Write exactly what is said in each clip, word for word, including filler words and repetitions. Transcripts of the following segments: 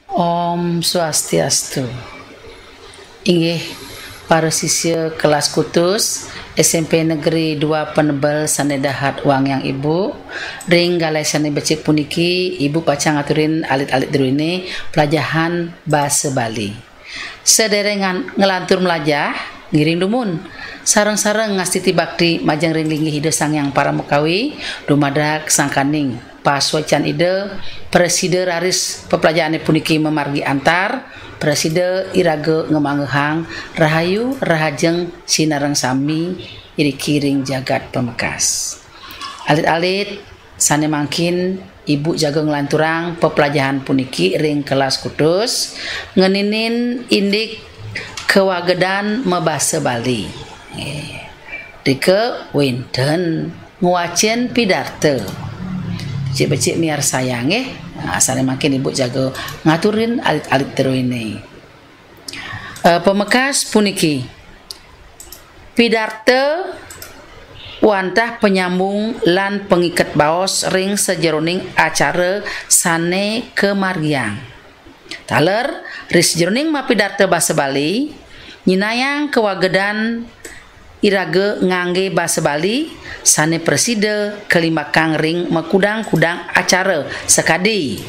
Om Swastiastu. Inggih, para sisya kelas kutus S M P Negeri dua Penebel sane dahat wangiang Ibu, ring galai sane becik puniki, Ibu pacang ngaturin alit-alit druene pelajahan basa Bali. Sederengan nglantur melajah, ngiring dumun. Sareng-sareng ngastiti bakti majeng ring linggih Ida Sang Hyang Paramakawi, dumadak sangkaning pasuecan Ida, prasida raris peplajahane puniki mamargi antar, prasida iraga ngamanggehang rahayu rahajeng sinareng sami iriki ring jagat pamekas. Alit-alit, sane mangkin Ibu jaga nglanturang peplajahan puniki ring kelas kutus, ngeninin indik kawagedan mabasa Bali. Nggih. Rika wenten ngwacen pidarta. Becik-becik miarsayang nggih. Nah, sane mangkin Ibu jaga ngaturin alit-alit druene. Eh, pamekas puniki. Pidarta wantah panyambung lan pangiket baos ring sajeroning acara sane kamargiang. Taler, ring sajeroning mapidarta basa Bali, nyinayang kawagedan iraga ngangge basa Bali sane prasida kalimbakang ring makudang-kudang acara sakadi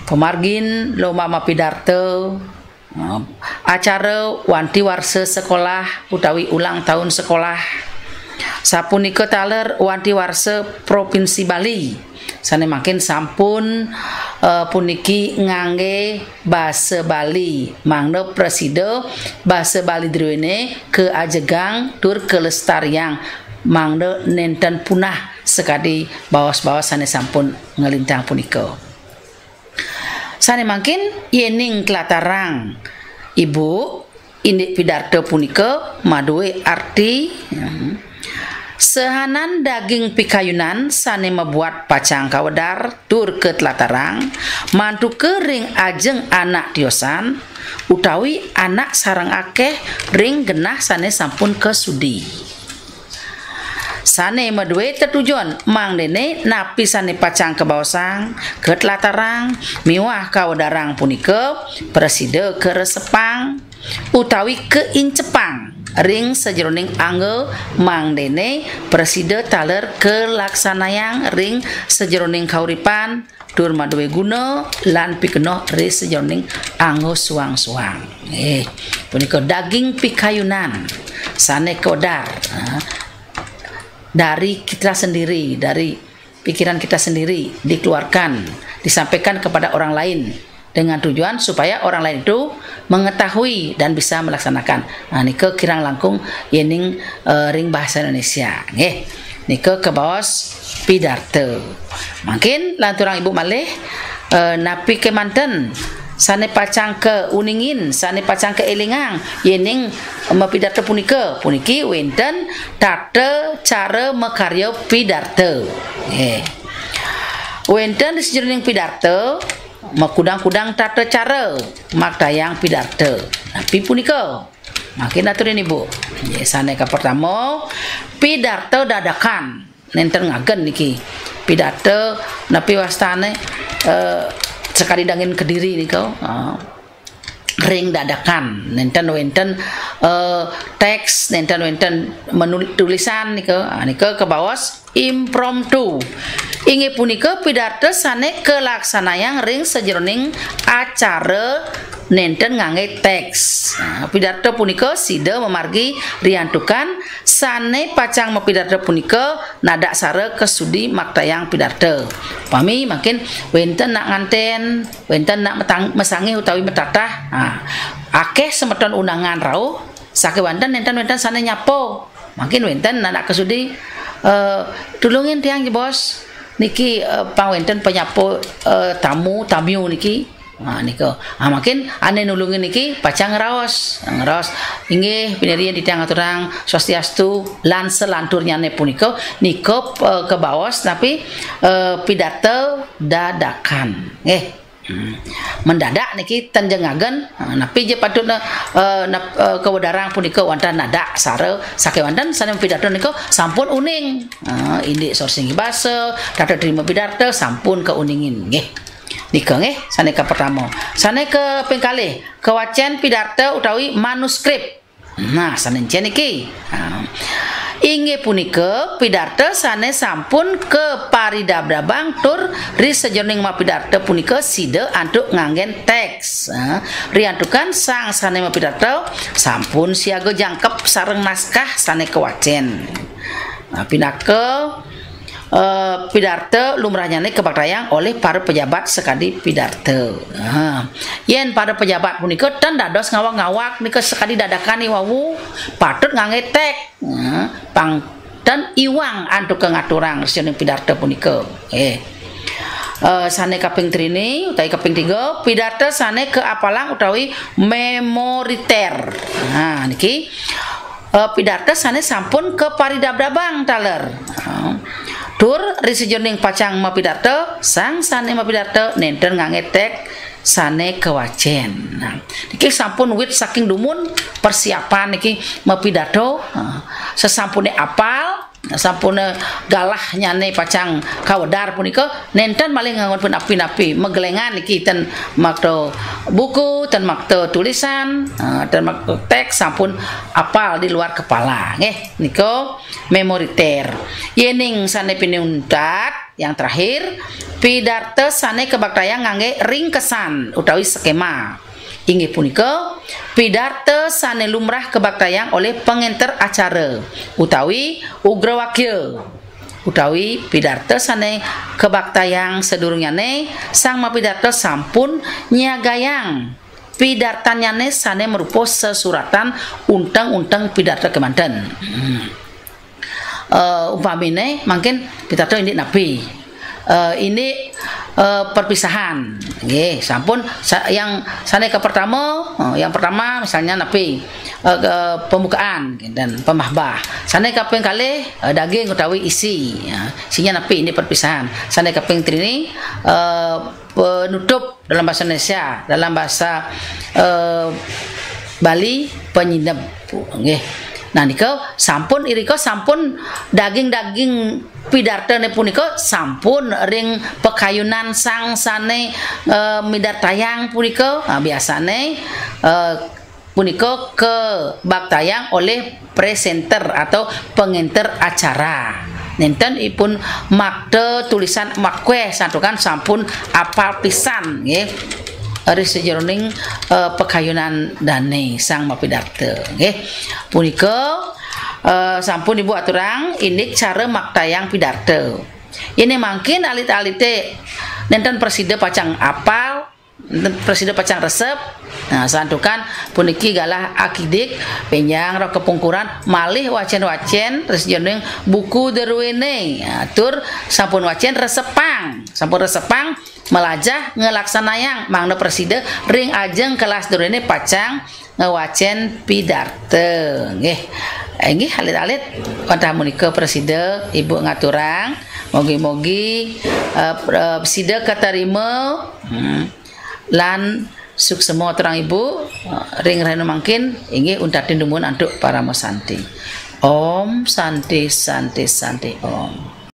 pamargin lomba mapidarta, acara wanti warsa sekolah utawi ulang tahun sekolah. Sapunika taler wanti warsa Provinsi Bali. Sane mangkin sampun, eh, puniki ngangge basa Bali, mangda prasida basa Bali druene kaajegang tur kalestariang, mangda nenten punah sakadi baos-baos sane sampun nglintang punika. Sane mangkin yening tlatarang, Ibu, indik pidarta punika madue arti, hmm, sahanan daging pikayunan sane mabuat pacang kawedar tur katlatarang, mantuka ring ajeng anak tiosan, utawi anak sareng akeh ring genah sane sampun kasudi. Sane madue tetujon mangdene napi sane pacang kabaosang, katlatarang, miwah kawedarang punika prasida karesepang utawi kaincepang ring sajeroning angga, mangdene prasida taler kalaksanayang ring sajeroning kauripan, tur madue guna lan pikenoh ring sajeroning angga suang-suang. Eh, punika daging pikayunan sane kawedar, ha, dari kita sendiri, dari pikiran kita sendiri dikeluarkan, disampaikan kepada orang lain dengan tujuan supaya orang lain itu mengetahui dan bisa melaksanakan. Nah, nika kirang langkung yening, eh, ring bahasa Indonesia. Nggih. Nika kabaos pidarta. Mangkin lanturang Ibu malih, eh, napi kemanten sane pacang kauningin, sane pacang kaelingang yening mapidarta punika. Puniki wenten tata cara makarya pidarta. Nggih. Wenten di sajeroning pidarta makudang-kudang tata cara maktayang pidarta. Napi punika? Mangkin aturin Ibu. Nggih, sane kapertama, pidarta dadakan. Nenten ngagen niki. Pidarta napi wastane, eh, sakadi dangin kediri nika. Ah, ring dadakan. Nenten wenten, eh, teks, nenten wenten menul-, tulisan nika. Ah, nika kabaos impromptu. Inggih punika pidarta sane kalaksanayang ring sajeroning acara nenten ngangge teks. Nah, pidarta punika sida mamargi riantukan sane pacang mapidarta punika nadak sara kasudi maktayang pidarta. Upami mangkin wenten nak nganten, wenten nak metang-, masangih utawi matatah. Nah, akeh semeton undangan rauh, sakewanten nenten-nenten sane nyapa. Mangkin wenten anak kasudi, eh, "Tulungin tiang, Bos. Niki, eh, pang wenten panyapa, eh, tamu, tamiu niki." Ha, nika. Ha, mangkin ane nulungin niki pacang ngraos. Ngraos, "Inggih, pinirien titiang aturang swastiastu," lan selanturnyane punika, nika, eh, kabaos napi, eh, pidarta dadakan. Nggih. Hmm. Mendadak niki ten ja ngagen, ha, napi ja patutne, eh, nap-, eh, kawedarang punika wantah nadak sara sakewanten sane mapidarta nika sampun uning. Ha, indik sorsing basa, tata terima pidarta sampun kauningin nggih. Nika nggih, sane kapertama. Sane kaping kalih, kawacen pidarta utawi manuskrip. Nah, sane encen niki. Nah, inggih punika pidarta sane sampun kaparidabdabang tur ri sajeroning mapidarta punika sida antuk nganggen teks. Nah, riantukan sang sane mapidarta sampun siaga jangkep sareng naskah sane kawacen. Nah, pinaka eh, pidarta lumrahnyane kabaktayang oleh para pejabat sakadi pidarta. Ha. Yen para pejabat punika ten dados ngawag-ngawag nika sakadi dadakan iwau, patut ngangge tek. Ha. Pang ten iwang antuk ngaturang sajeroning pidarta punika. Eh. Eh, sane kaping trini utawi kaping tiga, pidarta sane kaapalang utawi memoriter. Ha, niki eh, pidarta sane sampun kaparidabdabang taler. Eh, tur ri sajeroning pacang mapidarta, sang sane mapidarta nenten ngangge tek sane kawacen. Nah, niki sampun wit saking dumun persiapan niki mapidarta, eh, sesampune apal, sampune galahnyane pacang kawedar punika nenten malih nganggon pun api-napi, magelengan niki ten makta buku, ten makta tulisan, eh, ten makta teks sampun apal di luar kepala nggih. Nika memoriter. Yening sane pinih untat, yang terakhir, pidarta sane kabaktayang ngangge ringkesan utawi skema. Inggih punika pidarta sane lumrah kabaktayang oleh pangenter acara utawi ugrawakya, utawi pidarta sane kabaktayang sadurungnyane sang mapidarta sampun nyiagayang pidartanyane sane marupa sesuratan unteng-unteng pidarta kemanten. Hmm. Eh, umpamine mangkin pidarta indik napi? Eh, indik eh, perpisahan. Nggih, sampun sa- yang sane ke pertama, eh, yang pertama misalnya napi? Eh, ke pembukaan dan pemahbah. Sane kaping kalih, eh, daging utawi isi. Ya, isinya napi indik perpisahan. Sane kaping trini, eh, penutup dalam bahasa Indonesia, dalam bahasa eh, Bali penyineb. Nggih. Nah, nika sampun irika sampun daging-daging pidartane punika sampun ring pakayunan sang sane eh, midartayang punika. Nah, biasane eh, punika kabaktayang oleh presenter atau pengenter acara. Nenten ipun makta tulisan makweh santukan sampun apal pisan nggih. Ri sajeroning eh, pakayunan dane sang mapidarta nggih. Punika eh, sampun Ibu aturang indik cara maktayang pidarta. Yen mangkin alit-alite nenten prasida pacang apal, nenten prasida pacang resep. Nah, santukan puniki galah akidik, benjang roh kepungkuran, malih wacen-wacen ri sajeroning buku druene. Nah, tur sampun wacen resepang, sampun resepang malajah ngelaksanayang mangda prasida ring ajeng kelas druene pacang ngwacen pidarta. Nggih. Inggih alit-alit wantah punika prasida Ibu ngaturang. Mogi-mogi eh, eh, sida katarima hmm, lan suksema aturang Ibu eh, ring rahina mangkin inggih untatin dumun antuk parama santi. Om Santi Santi Santi Om.